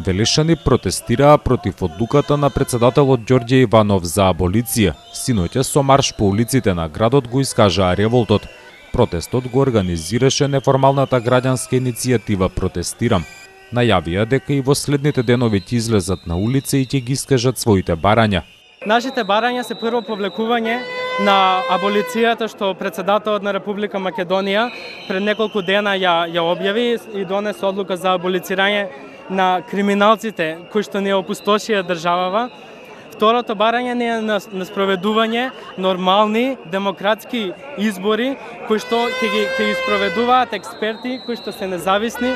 Велешани протестираа против одлуката на председателот Ѓорѓе Иванов за аболиција. Синоќа со марш по улиците на градот го искажаа револтот. Протестот го организираше неформалната граѓанска иницијатива Протестирам. Најавија дека и во следните денови ќе излезат на улица и ќе ги искажат своите барања. Нашите барања се прво повлекување на аболицијата што председателот на Република Македонија пред неколку дена ја објави и донесе одлука за аболицирање на криминалците кои што не опустошија државава. Второто барање не е на спроведување нормални демократски избори кои што ќе ги спроведуваат експерти кои што се независни.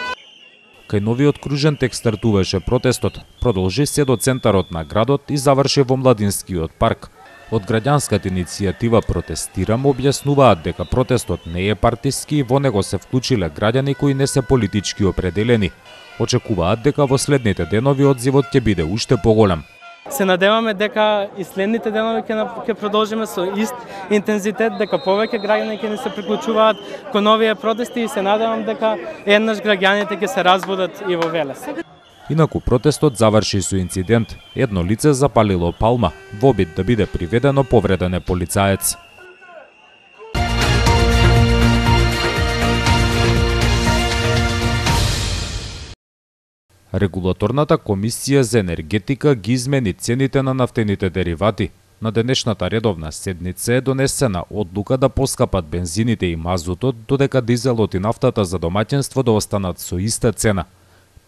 Кај новиот кружен тек стартуваше протестот, продолжи се до центарот на градот и заврши во Младинскиот парк. Од граѓанската иницијатива Протестирам објаснуваат дека протестот не е партиски и во него се вклучиле граѓани кои не се политички определени. Очекуваат дека во следните денови одзивот ќе биде уште поголем. Се надеваме дека и следните денови ќе продолжиме со ист интензитет, дека повеќе граѓани ќе не се приклучуваат кон овие протести и се надевам дека еднаш граѓаните ќе се разбудат и во Велес. Инаку протестот заврши со инцидент. Едно лице запалило палма во обид да биде приведено повреден е полицаец. Регулаторната комисија за енергетика ги измени цените на нафтените деривати. На денешната редовна седница е донесена одлука да поскапат бензините и мазутот, додека дизелот и нафтата за домаќинство да останат со иста цена.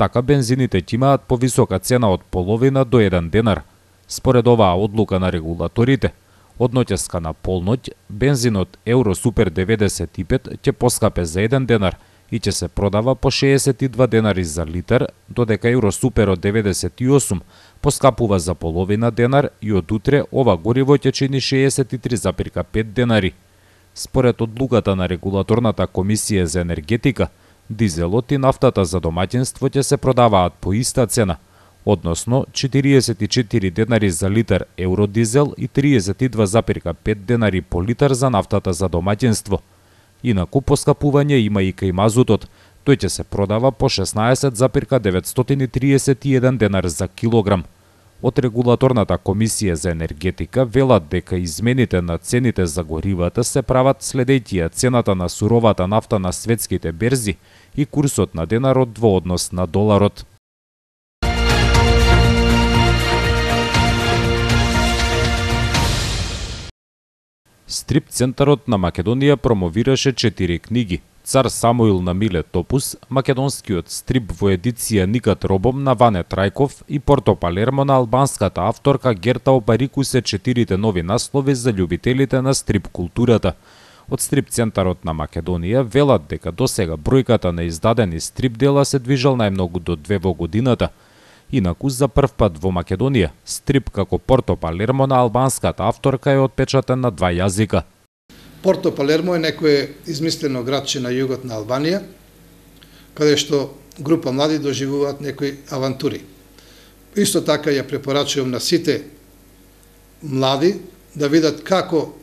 Така бензините ќе имаат повисока цена од половина до 1 денар. Според оваа одлука на регулаторите, од ноќеска на полноќ бензинот Евро Супер 95 ќе поскапе за 1 денар и ќе се продава по 62 денари за литар, додека Евро Супер од 98 поскапува за половина денар и од утре ова гориво ќе чини 63,5 денари. Според одлуката на регулаторната комисија за енергетика, дизелот и нафтата за домаќинство ќе се продаваат по иста цена, односно 44 денари за литар евродизел и 32,5 денари по литар за нафтата за домаќинство. Инаку поскапување има и кај мазутот. Тој ќе се продава по 16,931 денар за килограм. Од регулаторната комисија за енергетика велат дека измените на цените за горивата се прават следејќи цената на суровата нафта на светските берзи и курсот на денарот во однос на доларот. Стрип центарот на Македонија промовираше 4 книги. Цар Самуил на Миле Топус, македонскиот стрип во едиција Никат Робом на Ване Трајков и Порто Палермо на албанската авторка Герта Опарику се 4 нови наслови за љубителите на стрип културата. Од стрип центарот на Македонија велат дека досега бројката на издадени стрип дела се движал најмногу до 2 во годината. Инаку за прв пат во Македонија, стрип како Порто Палермо на албанската авторка е отпечатен на 2 јазика. Порто Палермо е некое измислено градче на југот на Албанија, каде што група млади доживуваат некои авантури. Исто така ја препорачувам на сите млади да видат како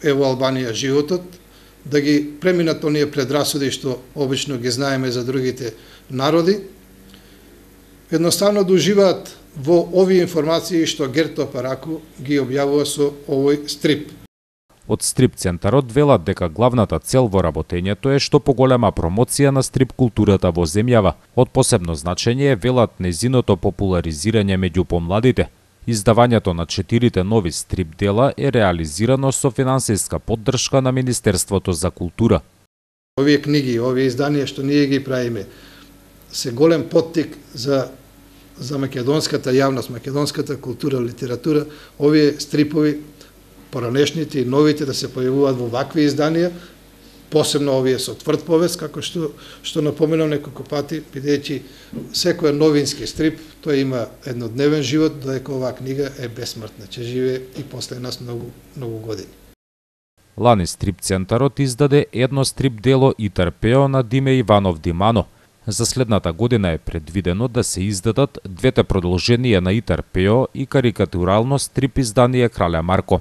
е во Албанија животот, да ги преминат оние предрасуди што обично ги знаеме за другите народи, едноставно да уживаат во овие информации што Герто Параку ги објавува со овој стрип. Од стрип центарот велат дека главната цел во работењето е што поголема промоција на стрип културата во земјава. Од посебно значење е велат незиното популаризирање меѓу помладите. Издавањето на 4 нови стрип дела е реализирано со финансиска поддршка на Министерството за култура. Овие книги, овие изданија што ние ги правиме, се голем поттик за македонската јавност, македонската култура, литература, овие стрипови, поранешните и новите да се појавуваат во вакви изданија, посебно овие со тврд повест, како што напоменам неколку пати, бидејќи секој новински стрип, тој има еднодневен живот, додека оваа книга е бесмртна, ќе живее и после нас многу години. Лани стрип центарот издаде едно стрип дело И Тарпео на Диме Иванов Димано. За следната година е предвидено да се издадат двете продолженија на И Тарпео и карикатурално стрип издание Крале Марко.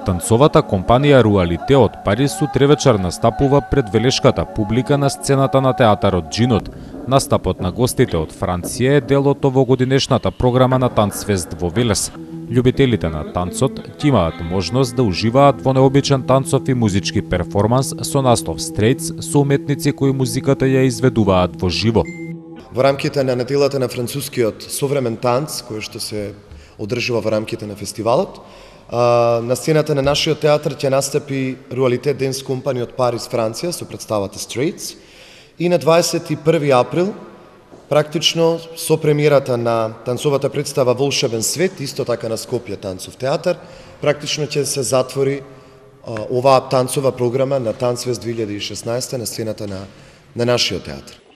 Танцовата компанија Руалите од Париз утревечер настапува пред велешката публика на сцената на театарот Джинот. Настапот на гостите од Франција е дел од овогодинешната програма на Танцфест во Велес. Љубителите на танцот ќе имаат можност да уживаат во необичен танцов и музички перформанс со наслов Стрейтс со уметници кои музиката ја изведуваат во живо. Во рамките на неделата на францускиот современ танц, кој што се одржува во рамките на фестивалот, на сцената на нашиот театар ќе настапи Руалите Денс Компани од Париз, Франција, со представата Стрейтс. И на 21 април, практично со премиерата на танцовата представа Волшебен свет, исто така на Скопје танцов театар, практично ќе се затвори оваа танцова програма на Танцфест 2016 на сцената на нашиот театар.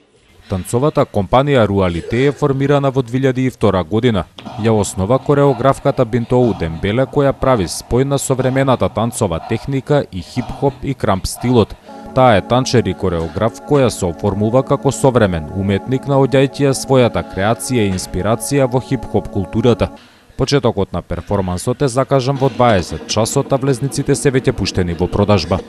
Танцовата компанија Руалите е формирана во 2002 година. Ја основа кореографката Бинтоу Дембеле, која прави спој на современата танцова техника и хип-хоп и крамп стилот. Таа е танчер и кореограф која се оформува како современ уметник наоѓајќи ја својата креација и инспирација во хип-хоп културата. Почетокот на перформансот е закажан во 20 часот, а влезниците се веќе пуштени во продажба.